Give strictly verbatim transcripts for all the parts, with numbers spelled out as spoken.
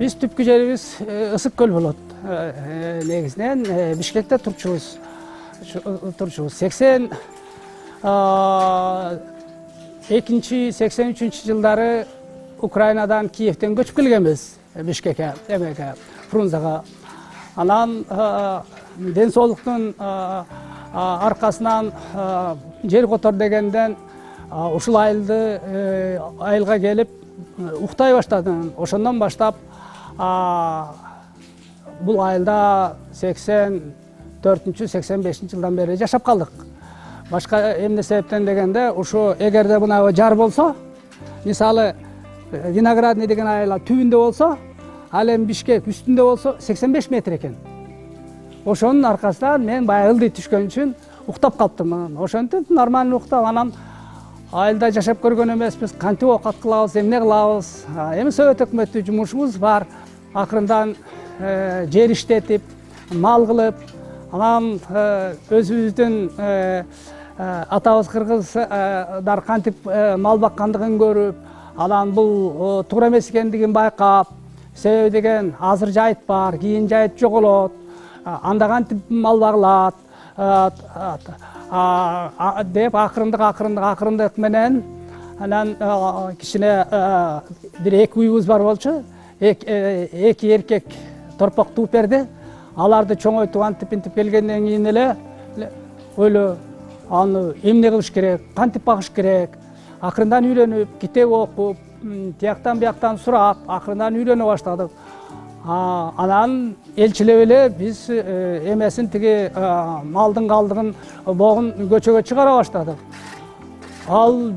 Биз түпкү жерибиз Ысык көл болот. Негизинен Бишкекте турчубуз. Турчубуз. сексен экинчи сексен үчүнчү жылдары Украинадан, Киевден көчүп келгенбиз Бишкекке, эмеге, Фрунзага. Анан ден соолуктун аркасынан жер котор дегенден ушул айылды айылга келип уктай баштадым. Ошондон баштап бул айылда сексен төртүнчү сексен бешинчи жылдан бери жашап калдык. Башка эмне себептен дегенде, ушу эгерде мына жар болсо, мисалы Виноградный деген айыл түбүндө болсо, ал эми Бишкек үстүндө болсо сексен беш метр экен. Ошонун аркасынан мен баягы ылдый түшкөн үчүн уктап калыптым. Ошентип нормально уктап, анан айылда жашап көргөн эмеспиз, кантип оокат кылабыз, эмне кылабыз. Эми Совет өкмөттү жумушубуз бар. Акырындан жер иштетип, мал кылып, анан өзүбүздүн атабыз кыргыздар кантип мал баккандыгын көрүп, анан бул туура эмес экендигин байкап, себеби деген азыр жайыт бар, кийин жайыт жоголот, анда кантип мал багылат деп акырындык акырындык акырындык менен анан кичине бир эки уйубуз бар болчу. Эки эркек торпок тууп берди. Аларды чоңойтуп антип интип келгенден кийин эле ойло аны эмне кылыш керек, кантип багыш керек. Акырындан үйрөнүп, китеп окуп, тияктан бияктан сурап, акырындан үйрөнө баштадык. Анан элчилеп эле биз эмесин тиги малдын калдыгын, богун көчөгө чыгара баштадык. Ал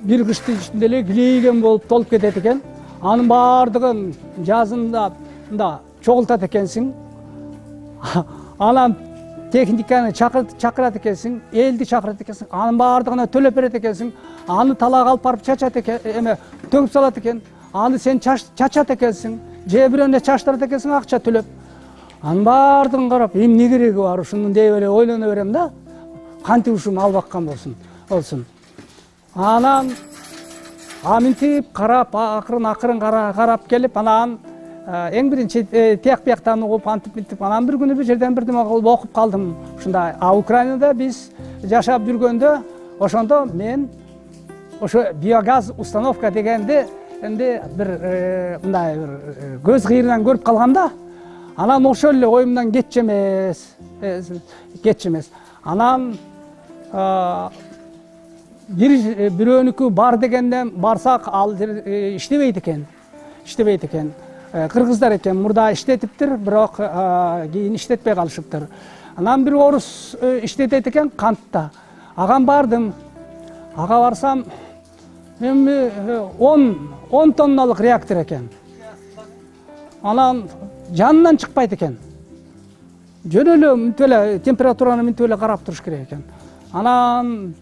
бир кыштын ичинде эле килейген болуп толуп кетет экен. Анын баардыгын жазында да чогултат экенсиң. Анан техниканы чакырат экенсиң, элди чакырат экенсиң, анын баардыгына төлөп берет экенсиң. Аны талаага алып барып чачат экен, эме төгүп салат экен. Аны сен чачат экенсиң, же бирөөнө чачтырат экенсиң акча төлөп. Анын баардыгын карап, эмне кереги бар ушунун деп эле ойлоно берем да. Кантип ушу мал баккан болсун, болсун. Анан аминтип карап, акырын акырын карап келип, анан эң биринчи тияк бияктан угуп, антип мынтип, анан бир күнү бир жерден бирдеме кылып окуп калдым. Ушундай. А Украинада биз жашап жүргөндө, ошондо мен ошо биогаз установка дегенди энди бир мындай бир көз кыйрынан көрүп калгам да. Анан ошол эле оюмдан кетчү эмес, кетчү эмес. Анан бир бирөөнүкү бар дегенден барсак, ал иштебейт экен. Иштебейт экен. Кыргыздар экен, мурда иштетиптир, бирок кийин иштетпей калышыптыр. Анан бир орус иштетет экен кантта. Агам бардым. Ага барсам, эми он тонналык реактор экен. Анан жанынан чыкпайт экен. Жөн эле мынтип эле температураны мынтип эле карап туруш керек экен. Анан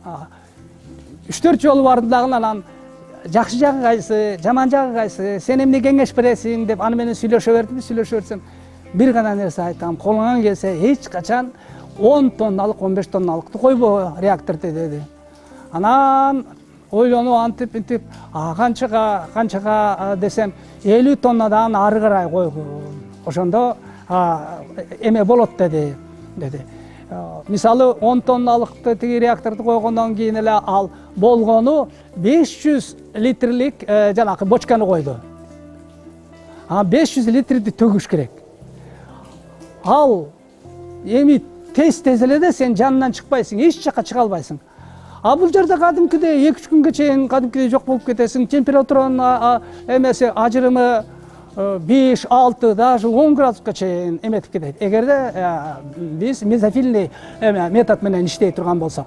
үч төрт жолу бардым дагы, анан жакшы жагы кайсы, жаман жагы кайсы, сен эмне кеңеш бересиң деп аны менен сүйлөшө бердим, сүйлөшө берсем, бир гана нерсе айтам, колуңан келсе эч качан он тонналык, он беш тонналыкты койбо реакторду деди. Анан ойлонуп антип интип, канчага, канчага десем, элүү тоннадан ары карай койгу. Ошондо эме болот деди, деди. Мисалы он тонналыкты тиги реакторду койгондон кийин эле ал болгону беш жүз литрлик жанакы бочканы койду. А беш жүз литрди төгүш керек. Ал эми тез-тез эле да сен жанынан чыкпайсың, эч жака чыга албайсың. А бул жерде кадимкидей эки үч күнгө чейин кадимкидей жок болуп кетесиң. Температуранын эмеси ажырымы беш, алты, даже он градуска чейин эметип кетет. Эгерде биз мезофильный метод менен иштей турган болсок.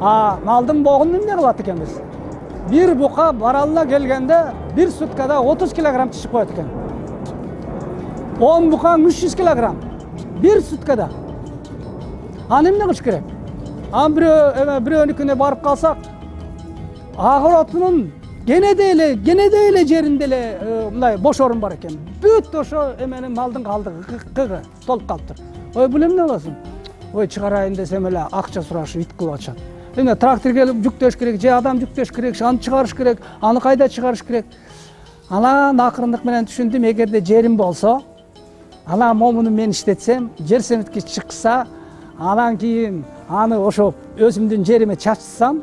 А малдын богун эмне кылат экенбиз? Бир бука баралына келгенде бир суткада отуз килограмм чыгып коет экен. он букаң үч жүз килограмм бир суткада. Аны эмне кылыш керек? Аны бирөө бирөөнүкүнө барып калсак, агыротунун кенеде эле кенеде эле жеринде эле мындай бош орун бар экен. Бүт ошо эменин малдын калдыгы толуп калыптыр. Ой, бул эмне болосун? Ой, чыгарайын десем эле акча сурашып ит кылып атышат. Эме трактор келип жүктөш керек, же адам жүктөш керек, аны чыгарыш керек, аны кайда чыгарыш керек? Анан акырындык менен түшүндүм, эгерде жерим болсо, анан момуну мен иштетсем, жер семиткич чыкса, анан кийин аны ошо өзүмдүн жериме чачсам,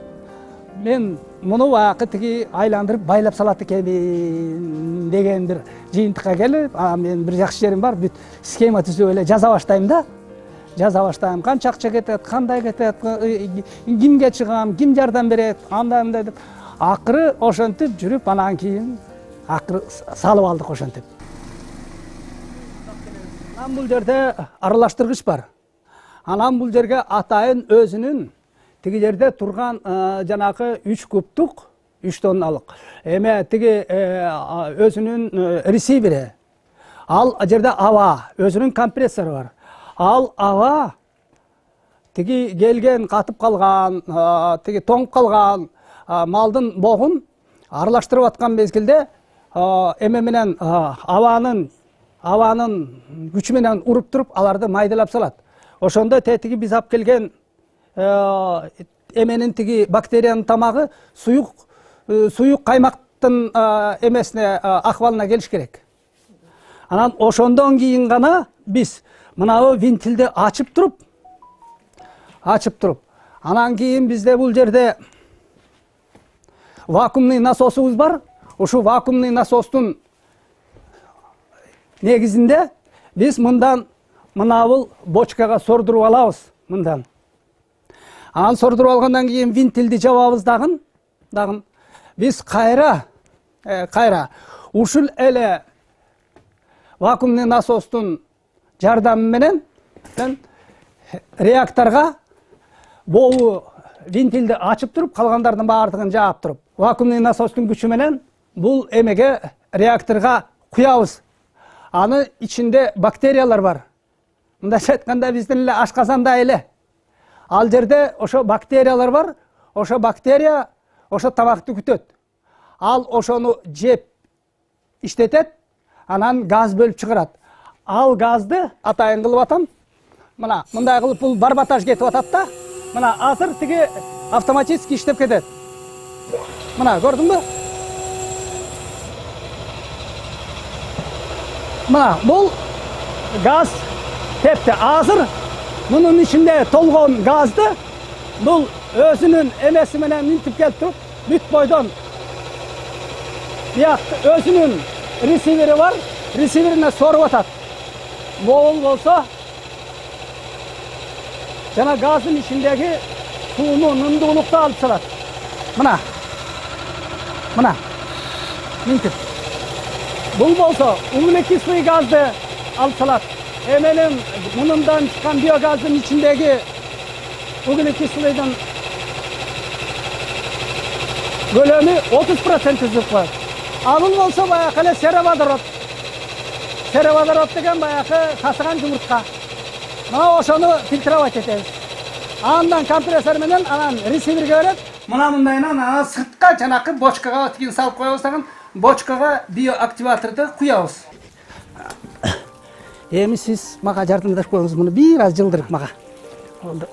мен муну баягы тиги айландырып байлап салат экенмин деген бир жыйынтыкка келип, анан мен бир жакшы жерим бар, бүт схема түзүп эле жаза баштайм да. Жаза баштайм, канча акча кетет, кандай кетет, кимге чыгам, ким жардам берет, андай мындай деп. Акыры ошентип жүрүп, анан кийин акыры салып алдык ошентип. Анан бул жерде аралаштыргыч бар. Анан бул жерге атайын өзүнүн тиги жерде турган жанагы үч кубтук, үч тонналык эме тиги өзүнүн ресивери. Ал жерде аба, өзүнүн компрессору бар. Ал аба тиги келген катып калган, тиги тоңуп калган малдын богун аралаштырып аткан мезгилде эме менен абанын абанын күчү менен уруп туруп аларды майдалап салат. Ошондо тетиги биз алып келген эменин тиги бактериянын тамагы суюк суюк каймактын эмесине акыбалына келиш керек. Анан ошондон кийин гана биз мынабы вентилди ачып туруп, ачып туруп, анан кийин бизде бул жерде вакуумный насосубуз бар. Ошо вакуумный насостун негизинде биз мындан мынабыл бочкага сордуруп алабыз, мындан. Анан сордуруп алгандан кийин вентилди жабабыз дагы, дагы. Биз кайра, кайра ушул эле вакуумный насостун жардамы менен реакторга болу вентилди ачып туруп, калгандардын баардыгын жаап туруп, вакуумный насостун күчү менен бул эмеге реакторга куябыз. Аны ичинде бактериялар бар. Мындайча айтканда биздин эле ашказанда эле. Ал жерде ошо бактериялар бар. Ошо бактерия ошо тамакты күтөт. Ал ошону жеп иштетет, анан газ бөлүп чыгарат. Ал газды атайын кылып атам. Мына мындай кылып бул барбатаж кетип атат да. Мына азыр тиги автоматически иштеп кетет. Мына көрдүңбү? Мына бул газ тепти. Азыр мунун ичинде толгон газды бул өзүнүн эмеси менен минтип келип туруп, бүт бойдон биyak өзүнүн ресивери бар, ресиверине соруп атат. Бул болсо жана газдын ичиндеги сууну, нымдуулукту алып салат. Мына. Мына. Минтип. Бул болсо углекислый газды алып салат. Эменин мунундан чыккан биогаздын ичиндеги углекислыйдын көлөмү отуз процент түзүп коет. А бул болсо баягы эле сероводород. Сероводород деген баягы сасыган жумуртка. Мына ошону фильтровать этебиз. Андан компрессор менен анан ресиверге берет. Мына мындайынан анан сыртка жанакы бочкага тигин салып коебуз дагы, бочкага биоактиваторду куябыз. Эми сиз мага жардамдашып коюңуз, муну бир аз жылдырып мага. Болду.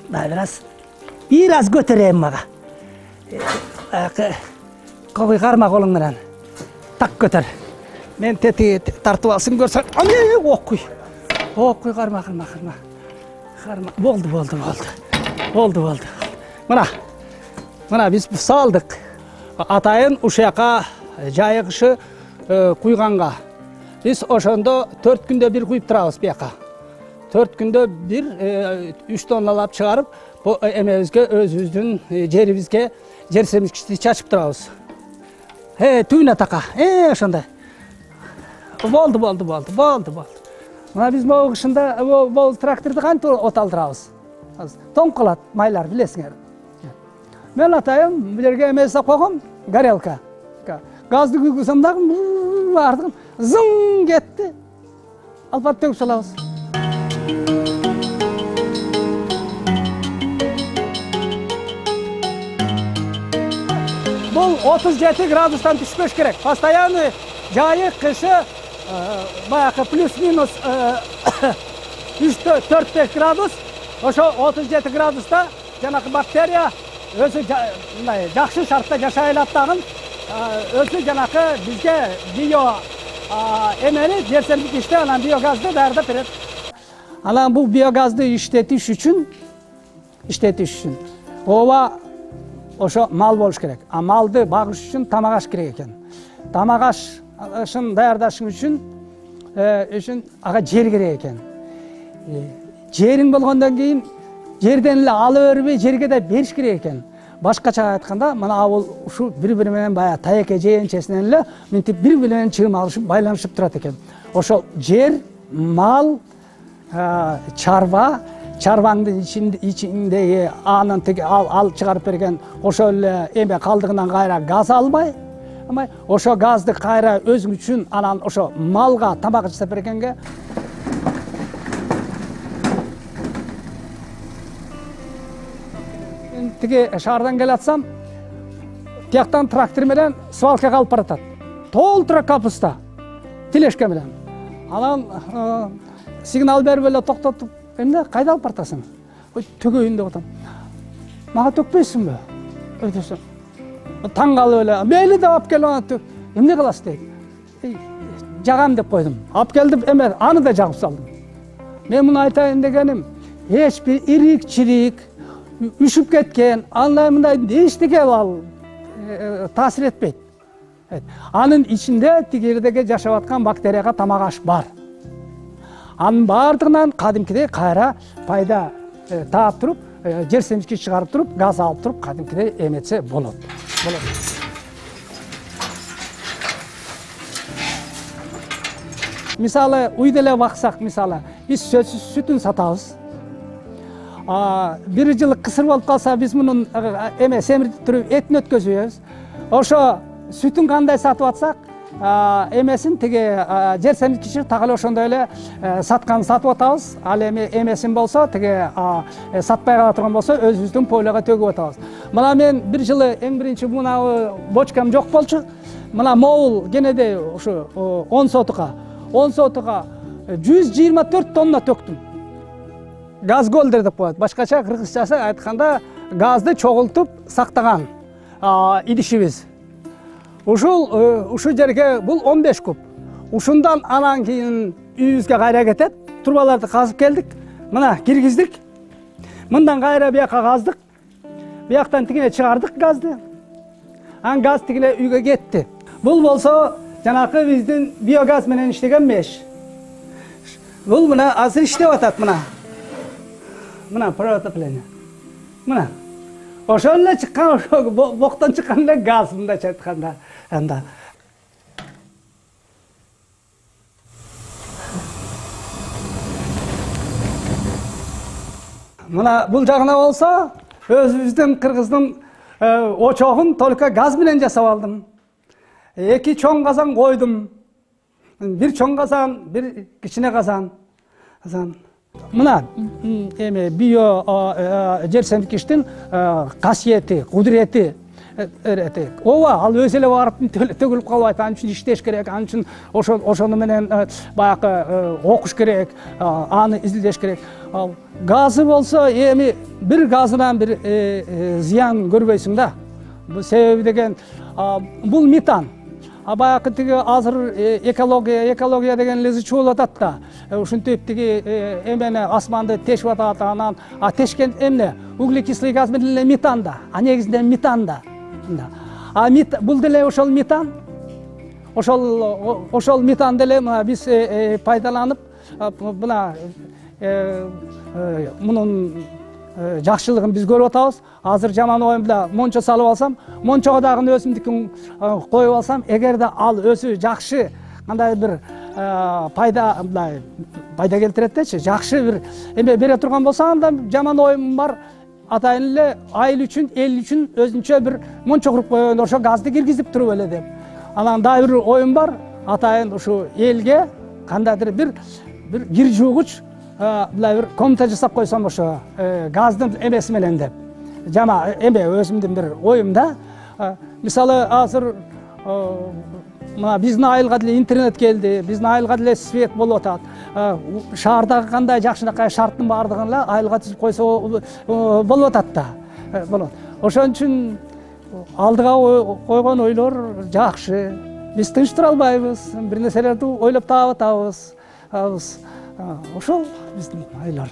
Да, бир аз бир аз көтөрөйм мага. Баягы кобуй карма колуң менен. Так көтөр. Мен тети тартып алсын көрсөң. Ане, окуй. Окуй карма, карма, карма. Карма. Болду, болду, болду. Болду, болду. Мына. Мына биз салдык. Атайын ушака жайыгышы куйганга. Биз ошондо төрт күндө бир куйуп турабыз бияка. төрт күндө бир үч тонналап чыгарып, эмебизге, өзүбүздүн жерибизге жер семиткичти чачып турабыз. Э, түйүнө така. Э, ошондой. Болду, болду, болду, болду, болду. Мына биз могу кышында бул тракторду кантип оталдырабыз? Тоң калат майлар, билесиңер. Мен атайын бул жерге эме жасап койгом, горелка. Газды күйгүзөм дагы бардыгын зың кетти. Алып төгүп салабыз. бул отуз жети градустан түшпөш керек. Постоянный жайы кышы баягы плюс-минус үч төрт беш градус, ошо отуз жети градуста жанакы бактерия өзү мындай жакшы шартта жашай алат дагы, өзү жанакы бизге био эмени жер семирткичти анан биогазды даярдап берет. Анан бул биогазды иштетиш үчүн иштетиш үчүн ооба ошо мал болуш керек. А малды багыш үчүн тамак аш керек экен. Тамак ашын даярдаш үчүн үчүн ага жер керек экен. Жериң болгондон кийин жерден эле ала бербей жерге да бериш керек экен. Башкача айтканда, мына бул ушу бири-бири менен баягы таеке жээнчесинен эле мынтип бири-бири менен чыгым алышып, байланышып турат экен. Ошол жер, мал, чарба, чарбанын ичиндеги анын тиги ал чыгарып берген ошол эле эме калдыгынан кайра газ албай, ошо газды кайра өзүң үчүн анан ошо малга тамак жасап бергенге тиги шаардан келатсам, тияктан трактор менен свалкага алып баратат. Толтура капуста, тележка менен. Анан сигнал берип эле токтотуп, эмне кайда алып баратасың? Ой, төгөйүн деп атам. Мага төкпөйсүңбү? Өйдөсөм. Таң калып эле, мейли деп алып келип анан эмне кыласыз дейт. Жагам деп койдум. Алып келдим, эме аны да жагып салдым. Мен муну айтайын дегеним, эч бир ирик-чирик үшүп кеткен, андай мындай эчтеке ал таасир этпейт. Анын ичинде тигердеги жашап аткан бактерияга тамак аш бар. Анын бардыгынан кадимкидей кайра пайда таап туруп, жер семирткич чыгарып туруп, газ алып туруп, кадимкидей эметсе болот. Мисалы, үйдө эле баксак, мисалы, биз сүтүн сатабыз. Бир жылы кысыр болуп калса, биз мунун эме семиртип туруп этин өткөзүбүз. Ошо сүтүн кандай сатып атсак, эмесин тиги жер семирткичи так эле ошондой эле саткан сатып атабыз. Ал эми эмесин болсо, тиги сатпай кала турган болсо, өзүбүздүн пойлого төгүп атабыз. Мына мен бир жылы эң биринчи мына бочкам жок болчу. Мына могул кенеде ушу он сотука, он сотука жүз жыйырма төрт тонна төктүм. Газ голдер деп коет. Башкача кыргызчасы айтканда газды чогултуп сактаган идишибиз. Ушул ушу жерге бул он беш куб. Ушундан анан кийин үйүбүзгө кайра кетет. Турбаларды казып келдик. Мына киргиздик. Мындан кайра бияка каздык. Бияктан тигине чыгардык газды. Анан газ тигине үйгө кетти. Бул болсо жанакы биздин биогаз менен иштеген меш. Бул мына азыр иштеп атат мына. Мына протопление. Мына. Ошол эле чыккан, ошо боктон чыккан эле газ мындайча айтканда. Анда. Мына бул жагына болсо, өзүбүздүн кыргыздын очогун только газ менен жасап алдым. Эки чоң казан койдум. Бир чоң казан, бир кичине казан. Казан. Мына эме био жер семирткичтин касиети, кудурети. Ооба, ал өзү эле барып төгүлүп калбайт. Анын үчүн иштеш керек, анын үчүн ошо ошону менен баягы окуш керек, аны изилдеш керек. Ал газы болсо, эми бир газынан бир зыян көрбөйсүң да. Бул себеби деген бул метан. А баягы тиги азыр экология, экология деген лезы чуулуп атат да. Ушинтип тиги эмени асманды тешип атат, анан а тешкен эмне? Углекислый газ менен эле метан да. А негизинде метан да. А бул деле ошол метан. Ошол ошол метанды эле биз пайдаланып, мына мунун жакшылыгын биз көрүп атабыз. Азыр жаман оюмда мончо салып алсам, мончого дагы өзүмдүкүн коюп алсам, эгерде ал өзү жакшы кандай бир пайда мындай пайда келтирет дечи, жакшы бир эме бере турган болсо, анда жаман оюм бар. Атайын эле айыл үчүн, эл үчүн өзүнчө бир мончо куруп койгондо ошо газды киргизип туруп эле деп. Анан дагы бир оюм бар. Атайын ушу элге кандайдыр бир бир кир жуугуч мындай бир комната жасап койсом ошо газдын эмеси менен деп. Жама эме өзүмдүн бир оюм да. Мисалы азыр мына биздин айылга деле интернет келди, биздин айылга деле свет болуп атат. Шаардагы кандай жакшынакай шарттын баардыгын эле айылга түзүп койсо болуп атат да. Болот. Ошон үчүн алдыга койгон ойлор жакшы. Биз тынч тура албайбыз, бир нерселерди ойлоп таап атабыз. Ошол биздин айлар.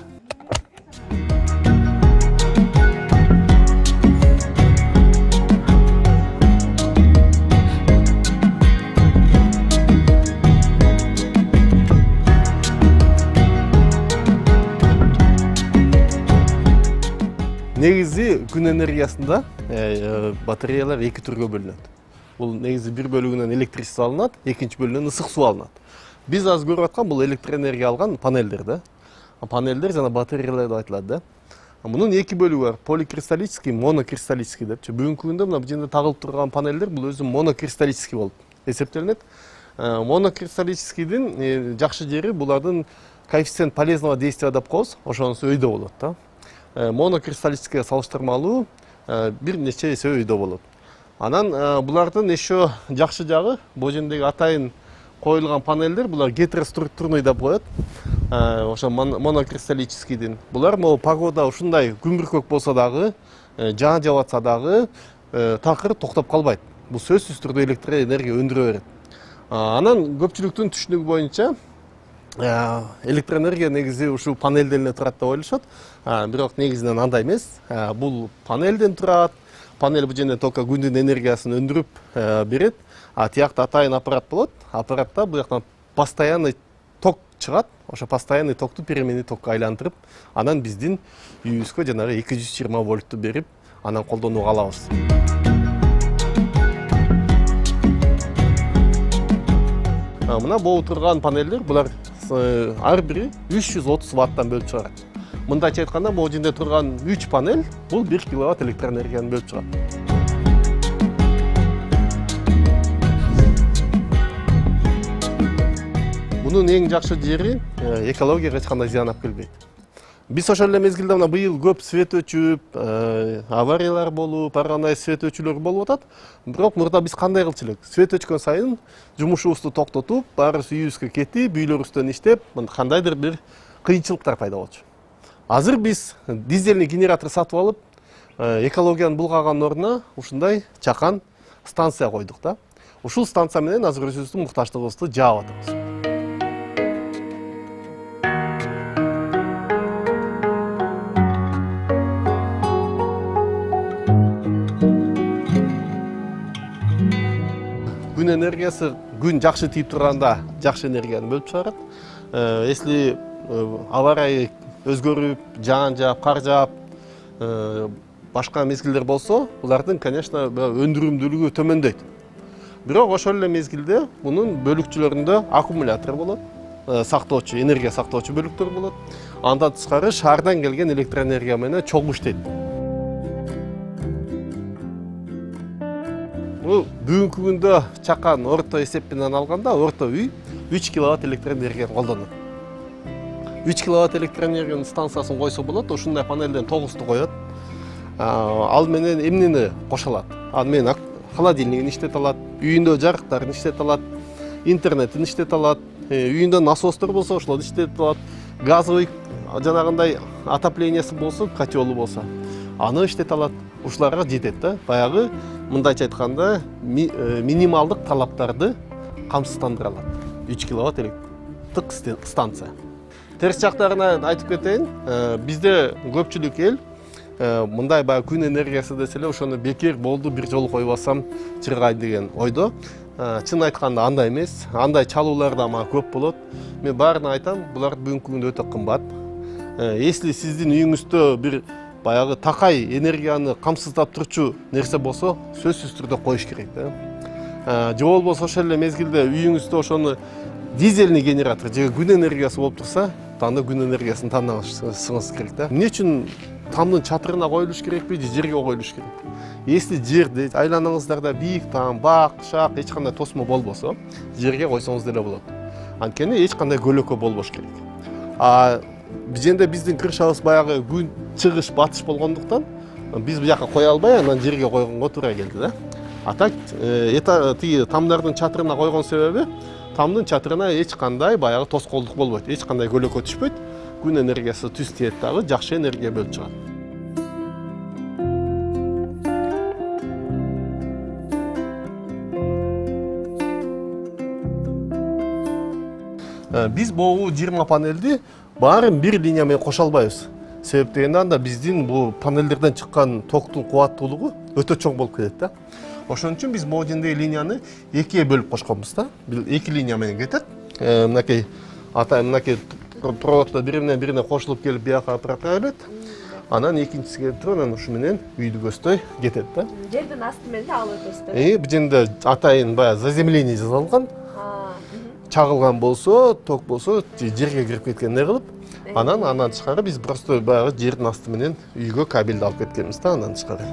Негизи күн энергиясында батареялар эки түргө бөлүнөт. Бул негизи бир бөлүгүнөн электричество алынат, экинчи бөлүгүнөн ысык суу алынат. Биз азыр көрүп аткан бул электроэнергия алган панелдер да. Панелдер жана батареялар деп айтылат да. Мунун эки бөлүгү бар: поликристаллический, монокристаллический депчи. Бүгүнкү күндө мына бул жерде тагылып турган панелдер бул өзү монокристаллический болуп эсептелинет. Монокристаллическийдин жакшы жери булардын коэффициент полезного действия деп коебуз, ошонусу өйдө болот да. Монокристаллическийге салыштырмалуу бир нече эсе өйдө болот. Анан булардын еще жакшы жагы, бул жердеги атайын коюлган панелдер булар гетероструктурный деп коет. Ошо монокристаллическийдин. Булар могу погода ушундай күмбүркөк болсо дагы, жаан жаап атса дагы такыр токтоп калбайт. Бул сөзсүз түрдө электроэнергия өндүрө берет. Анан көпчүлүктүн түшүнүгү боюнча электроэнергия негизи ушул панелден эле турат деп ойлошот. Бирок негизинен андай эмес. Бул панелден турат. Панель бул жерде только күндүн энергиясын өндүрүп берет. А тиякта атайын аппарат болот. Аппаратта бул жактан постоянный ток чыгат. Ошо постоянный токту переменный токко айландырып, анан биздин үйүбүзгө жанагы эки жүз жыйырма вольтту берип, анан колдонууга алабыз. Мына болуп турган панелдер булар ар бири үч жүз отуз ваттан бөлүп чыгарат. Мындайча айтканда, бул жерде турган үч панель бул бир киловатт электроэнергияны бөлүп чыгат. Мунун эң жакшы жери экологияга эч кандай зыян алып келбейт. Биз ошол эле мезгилде мына быйыл көп свет өчүп, авариялар болуп, ар кандай свет өчүүлөр болуп атат. Бирок мурда биз кандай кылчу элек? Свет өчкөн сайын жумушубузду токтотуп, баарыбыз үйүбүзгө кетип, үйлөрүбүздөн иштеп, кандайдыр бир кыйынчылыктар пайда болчу. Азыр биз дизельный генератор сатып алып, экологияны булгаганын ордуна ушундай чакан станция койдук да. Ушул станция менен азыр өзүбүздүн муктаждыгыбызды жаап атабыз. Күн энергиясы күн жакшы тийип турганда жакшы энергияны бөлүп чыгарат. Если авария өзгөрүп, жаан жаап, кар жаап, башка мезгилдер болсо, булардын, конечно, өндүрүмдүүлүгү төмөндөйт. Бирок ошол эле мезгилде мунун бөлүкчүлөрүндө аккумулятор болот, сактоочу, энергия сактоочу бөлүктөр болот. Андан тышкары шаардан келген электроэнергия менен чогуу иштейт. Бүгүнкү күндө чакан орто эсеп менен алганда орто үй үч киловатт электроэнергияны колдонот. үч киловатт электроэнергиянын станциясын койсо болот, ушундай панелден тогузду коет. Ал менен эмнени кошо алат? Ал менен холодильнигин иштете алат, үйүндө жарыктарын иштете алат, интернетин иштете алат, үйүндө насостор болсо ошолорду иштете алат, газовый жанагындай отоплениясы болсо, котелу болсо, аны иштете алат. Ушуларга жетет да. Баягы мындайча айтканда минималдык талаптарды камсыздандыра алат. үч киловатт электрик станция. Терс жактарына айтып кетейин, бизде көпчүлүк эл мындай баягы күн энергиясы десе эле ошону бекер болду, бир жолу койбасам чыргайт деген ойдо. Чын айтканда андай эмес, андай чалуулар да мага көп болот. Мен баарына айтам, булар бүгүнкү күндө өтө кымбат. Если сиздин үйүңүздө бир баягы такай энергияны камсыздап турчу нерсе болсо, сөзсүз түрдө коюш керек да. Же болбосо ошол эле мезгилде үйүңүздө ошону дизельный генератор же күн энергиясы болуп турса, анда күн энергиясын тандашыңыз керек да. Эмне үчүн тамдын чатырына коюлуш керекпи же жерге коюлуш керек? Если жерде айланаңыздарда бийик там, бак, шак, эч кандай тосмо болбосо, жерге койсоңуз деле болот. Анткени эч кандай көлөкө болбош керек. А бизде биздин крышабыз баягы күн чыгыш, батыш болгондуктан биз бияка кое албай анан жерге койгонго туура келди да. А так эта тиги тамдардын чатырына койгон себеби тамдын чатырына эч кандай баягы тоскоолдук болбойт, эч кандай көлөкө түшпөйт. Күн энергиясы түз тиет дагы жакшы энергия бөлүп чыгат. Биз могу жыйырма панелди баарын бир линия менен кошо албайбыз. Себеп дегенде анда биздин бул панелдерден чыккан токтун кубаттуулугу өтө чоң болуп кетет да. Ошон үчүн биз могу жердеги линияны экиге бөлүп кошконбуз да. Эки линия менен кетет. Мынакей ата мынакей проводдор бири менен бирине кошулуп келип бияка аппаратка берет. Анан экинчиси келип туруп анан ушу менен үйдү көздөй кетет да. Жердин асты менен алып өтөсүз. Э, бул жерде атайын баягы заземление жасалган. Чагылган болсо, ток болсо, жерге кирип кеткендей кылып, анан андан тышкары биз просто баягы жердин асты менен үйгө кабелди алып кеткенбиз да, андан тышкары.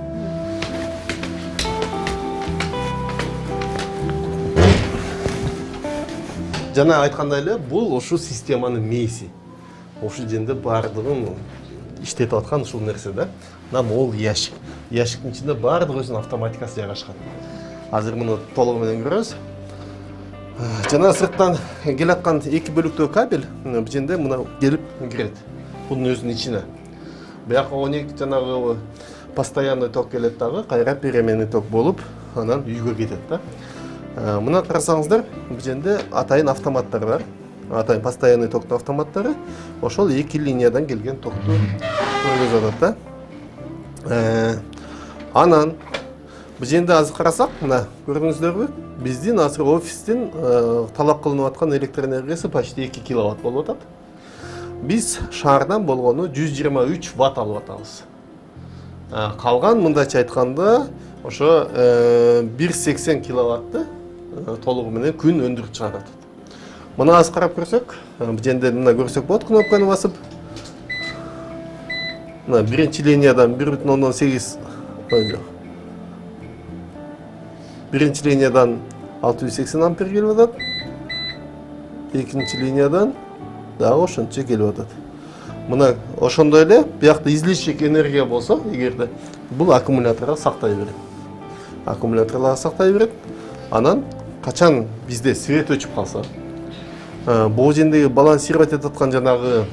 Жана айткандай эле, бул ошол системанын мээси. Ошол жерде баардыгын иштетип аткан ушул нерсе да. Анан ол ящик. Ящиктин ичинде баардык өзүнүн автоматикасы жайгашкан. Азыр муну толугу менен көрөбүз. Жана сырттан келаткан эки бөлүктүү кабель бул жерде мына келип кирет. Бунун өзүнүн ичине. Бияка он эки жанагы постоянный ток келет дагы, кайра переменный ток болуп, анан үйгө кетет да. Мына карасаңыздар, бул жерде атайын автоматтар бар. Атайын постоянный токтун автоматтары. Ошол эки линиядан келген токту көргөзүп атат да. Анан бул жерде азыр карасак, мына көрдүңүздөрбү? Биздин азыр офистин талап кылынып аткан электр энергиясы почти эки киловатт болуп атат. Биз шаардан болгону жүз жыйырма үч ватт алып атабыз. Калган мындайча айтканда, ошо бир сексен киловатты толугу менен күн өндүрүп чыгарат. Мына азыр карап көрсөк, бул жерде мына көрсөк болот, кнопканы басып. Мына биринчи линиядан бир бүтүн ондон сегиз Биринчи линиядан алты жүз сексен ампер келип атат. Экинчи линиядан дагы ошончо келип атат. Мына ошондой эле биякта излишик энергия болсо, эгерде бул аккумуляторго сактай берет. Аккумуляторго сактай берет. Анан качан бизде свет өчүп калса, бул жердеги балансировать этип аткан жанагы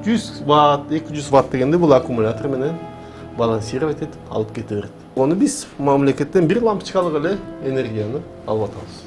жүз ватт, эки жүз ватт дегенде бул аккумулятор менен балансировать этип алып кете берет. Оны биз мамлекеттен бир лампочкалык эле энергияны алып атабыз.